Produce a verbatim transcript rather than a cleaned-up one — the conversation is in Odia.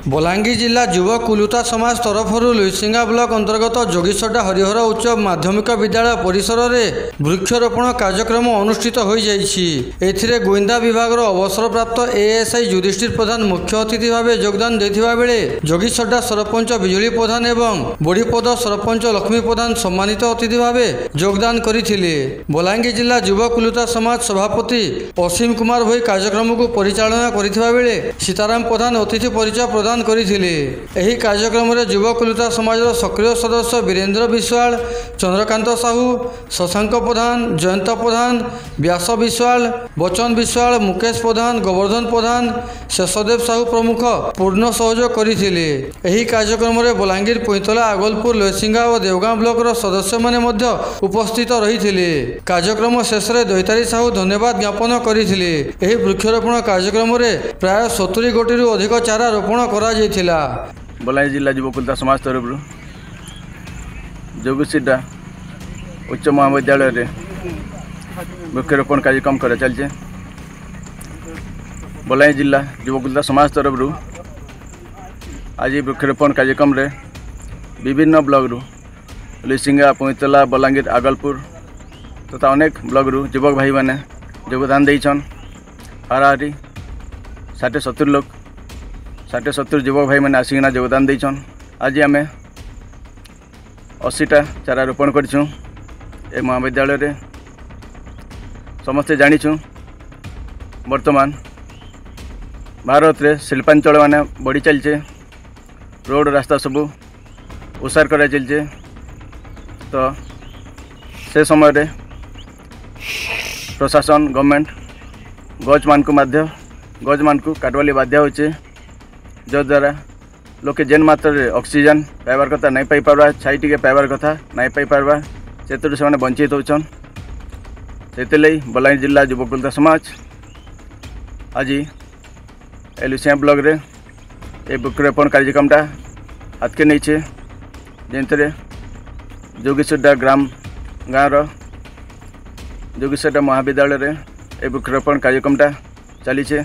ବଲାଙ୍ଗୀର ଜିଲ୍ଲା ଯୁବ କୁଲୁତା ସମାଜ ତରଫରୁ ଲୁଇସିଙ୍ଗା ବ୍ଲକ ଅନ୍ତର୍ଗତ ଯୋଗୀସଡା ହରିହର ଉଚ୍ଚ ମାଧ୍ୟମିକ ବିଦ୍ୟାଳୟ ପରିସରରେ ବୃକ୍ଷରୋପଣ କାର୍ଯ୍ୟକ୍ରମ ଅନୁଷ୍ଠିତ ହୋଇଯାଇଛି। ଏଥିରେ ଗୁଇନ୍ଦା ବିଭାଗର ଅବସରପ୍ରାପ୍ତ ଏଏସ୍ଆଇ ଯୁଧିଷ୍ଠିର ପ୍ରଧାନ ମୁଖ୍ୟ ଅତିଥି ଭାବେ ଯୋଗଦାନ ଦେଇଥିବା ବେଳେ ଯୋଗୀସଡା ସରପଞ୍ଚ ବିଜୁଳି ପ୍ରଧାନ ଏବଂ ବଡ଼ିପଦ ସରପଞ୍ଚ ଲକ୍ଷ୍ମୀ ପ୍ରଧାନ ସମ୍ମାନିତ ଅତିଥି ଭାବେ ଯୋଗଦାନ କରିଥିଲେ। ବଲାଙ୍ଗୀର ଜିଲ୍ଲା ଯୁବ କୁଲୁତା ସମାଜ ସଭାପତି ଅସୀମ କୁମାର ଭୋଇ କାର୍ଯ୍ୟକ୍ରମକୁ ପରିଚାଳନା କରିଥିବା ବେଳେ ସୀତାରାମ ପ୍ରଧାନ ଅତିଥି ପରିଚୟ ପ୍ରଦାନ କରିଥିଲେ। ଏହି କାର୍ଯ୍ୟକ୍ରମରେ ଯୁବ କୁଲୁତା ସମାଜର ସକ୍ରିୟ ସଦସ୍ୟ ବୀରେନ୍ଦ୍ର ବିଶ୍ୱାଳ, ଚନ୍ଦ୍ରକାନ୍ତ ସାହୁ, ଶଶାଙ୍କ ପ୍ରଧାନ, ଜୟନ୍ତ ପ୍ରଧାନ, ବ୍ୟାସ ବିଶ୍ୱାଳ, ବଚନ ବିଶ୍ୱାଳ, ମୁକେଶ ପ୍ରଧାନ, ଗୋବର୍ଦ୍ଧନ ପ୍ରଧାନ, ଶେଷଦେବ ସାହୁ ପ୍ରମୁଖ ପୂର୍ଣ୍ଣ ସହଯୋଗ କରିଥିଲେ। ଏହି କାର୍ଯ୍ୟକ୍ରମରେ ବଲାଙ୍ଗୀର, ପୁଇଁତଲା, ଆଗଲପୁର, ଲୋଇସିଙ୍ଗା ଓ ଦେଓଗାଁ ବ୍ଲକର ସଦସ୍ୟମାନେ ମଧ୍ୟ ଉପସ୍ଥିତ ରହିଥିଲେ। କାର୍ଯ୍ୟକ୍ରମ ଶେଷରେ ଦୈତାରୀ ସାହୁ ଧନ୍ୟବାଦ ଜ୍ଞାପନ କରିଥିଲେ। ଏହି ବୃକ୍ଷରୋପଣ କାର୍ଯ୍ୟକ୍ରମରେ ପ୍ରାୟ ସତୁରି ଗୋଟିରୁ ଅଧିକ ଚାରା ରୋପଣ କରାଯାଇଥିଲା। ବଲାଙ୍ଗୀର ଜିଲ୍ଲା ଯୁବକୁଲତା ସମାଜ ତରଫରୁ ଯୋଗୀସିଡା ଉଚ୍ଚ ମହାବିଦ୍ୟାଳୟରେ ବୃକ୍ଷରୋପଣ କାର୍ଯ୍ୟକ୍ରମ କରାଚାଲିছে। ବଲାଙ୍ଗୀର ଜିଲ୍ଲା ଯୁବକୁଲତା ସମାଜ ତରଫରୁ ଆଜି ବୃକ୍ଷରୋପଣ କାର୍ଯ୍ୟକ୍ରମରେ ବିଭିନ୍ନ ବ୍ଲକରୁ ଲୁଇସିଙ୍ଗା, ପୁଇଁତଲା, ବଲାଙ୍ଗୀର, ଆଗଲପୁର ତଥା ଅନେକ ବ୍ଲକରୁ ଯୁବକ ଭାଇମାନେ ଯୋଗଦାନ ଦେଇଛନ୍। ହାରାହାରି ଷାଠିଏ ସତୁରି ଲୋକ, ଷାଠିଏ ସତୁରି ଯୁବକ ଭାଇମାନେ ଆସିକିନା ଯୋଗଦାନ ଦେଇଛନ୍। ଆଜି ଆମେ ଅଶୀଟା ଚାରା ରୋପଣ କରିଛୁଁ ଏ ମହାବିଦ୍ୟାଳୟରେ। ସମସ୍ତେ ଜାଣିଛୁଁ, ବର୍ତ୍ତମାନ ଭାରତରେ ଶିଳ୍ପାଞ୍ଚଳ ମାନେ ବଢ଼ି ଚାଲିଛେ, ରୋଡ଼ ରାସ୍ତା ସବୁ ଓସାର କରାଚାଲିଛେ। ତ ସେ ସମୟରେ ପ୍ରଶାସନ, ଗଭର୍ଣ୍ଣମେଣ୍ଟ ଗଛମାନଙ୍କୁ ମଧ୍ୟ ଗଛମାନଙ୍କୁ କାଟବାଲି ବାଧ୍ୟ ହେଉଛେ, ଯଦ୍ୱାରା ଲୋକେ ଯେନ୍ ମାତ୍ରାରେ ଅକ୍ସିଜେନ୍ ପାଇବାର କଥା ନାଇଁ ପାଇପାରବା, ଛାଇ ଟିକେ ପାଇବାର କଥା ନାଇଁ ପାଇପାରବା, ସେଥିରୁ ସେମାନେ ବଞ୍ଚିତ ହେଉଛନ୍। ସେଥିର୍ଲାଗି ବଲାଙ୍ଗୀର ଜିଲ୍ଲା ଯୁବକୁଲତା ସମାଜ ଆଜି ଏ ଲୁସିଆ ବ୍ଲକରେ ଏ ବୃକ୍ଷରୋପଣ କାର୍ଯ୍ୟକ୍ରମଟା ହାତକେ ନେଇଛେ, ଯେନ୍ଥିରେ ଯୋଗୀସଡା ଗ୍ରାମ ଗାଁର ଯୋଗୀସଡା ମହାବିଦ୍ୟାଳୟରେ ଏ ବୃକ୍ଷରୋପଣ କାର୍ଯ୍ୟକ୍ରମଟା ଚାଲିଛେ।